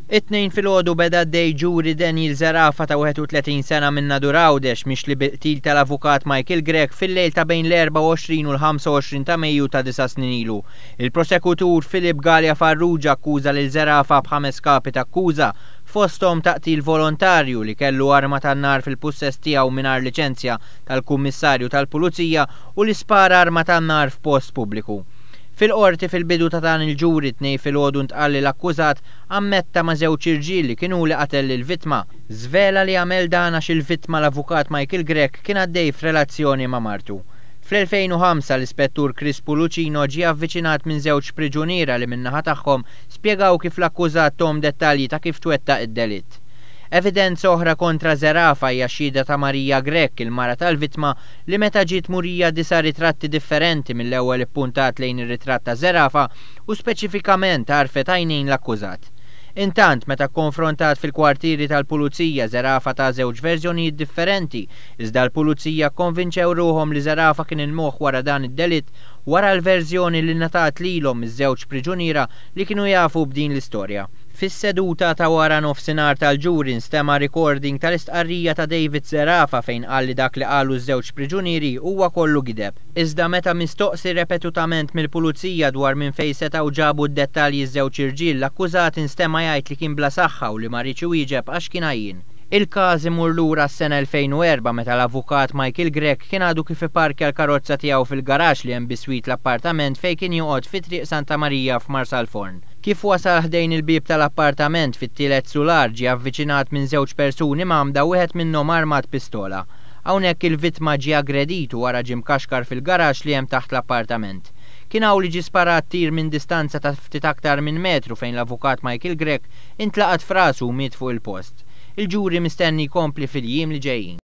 It-Tnejn filgħodu beda għaddej ġuri Daniel Zerafa ta' 31 sena minn Nadur Għawdex mixli bil-qtil tal-avukat Michael Grech fil-lejl ta' bejn l-24 u l-25 ta' Mejju ta' disa' snin ilu. Il-prosekutur Philip Galea Farrugia akkuża lil Zerafa b'ħames kapi t'akkuża, fosthom ta' qtil volontarju, li kellu arma tan-nar fil-pussess tiegħu mingħajr liċenzja tal-Kummissarju tal-Pulizija u li spara arma tan-nar f'post pubbliku. Fil-Qorti fil-bidu ta' dan il-ġuri t-Tnejn filgħodu ntqal li l-akkużat ammetta ma' żewġ irġiel li kien hu li qatel lill-vittma. Żvela li għamel dan għax il-vittma l-avukat Michael Grech kien għaddej f'relazzjoni ma' martu. Fl-2005 l-Ispettur Chris Pulucino ġie avviċinat minn żewġ priġuniera li min-naħa tagħhom spjegaw kif l-akkużat thom dettalji ta' kif twettaq id-delitt. Evidenza oħra kontra Zerafa hija x-xhieda ta' Maria Grech, il-mara tal-vittma, li meta ġiet murija disa' ritratti differenti mill-ewwel ippuntat lejn ir-ritratt ta' Zerafa u speċifikament għarfet għajnejn l-akkużat. Intant, meta kkonfrontat fil-kwartieri tal-Pulizija, Zerafa ta żewġ verżjonijiet differenti, iżda l-Pulizija kkonvinċew ruħhom li Zerafa kien il-moħħ wara dan id-delitt wara l-verżjoni li ngħatat lilhom miż-żewġ priġuniera li kienu jafu b'din l-istorja. Fis-seduta ta' wara nofsinhar tal-ġuri nstema' recording tal-istqarrija ta' David Zerafa fejn qal li dak li qalu ż-żewġ priġunieri huwa kollu gideb. Iżda meta mistoqsi repetutament mill-Pulizija dwar minn fejn setgħu ġabu d-dettalji ż-żewġ irġiel, l-akkużat instema' jgħid li kien bla saħħa u li ma riedx iwieġeb għax kien għajjien. Il-każ imur lura għas-sena 2004 meta l-avukat Michael Grech kien għadu kif ipparkja l-karozza tiegħu fil-garaxx li hemm biswit l-appartament fejn kien joqgħod fi Triq Santa Marija f'Marsalforn. Kif wasal ħdejn il-bieb tal-appartament fit-tielet sular ġie avviċinat minn żewġ persuni mgħammda wieħed minnhom armat pistola. Hawnhekk il-vittma ġie aggredit u wara ġie mkaxkar fil-garaxx li hemm taħt l-appartament. Kien hawn li ġie sparat tir minn distanza ta' ftit aktar minn metru fejn l-avukat Michael Grech intlaqat f'rasu u miet fuq il-post. Il-ġuri mistenni jkompli fil-jiem li ġejjin.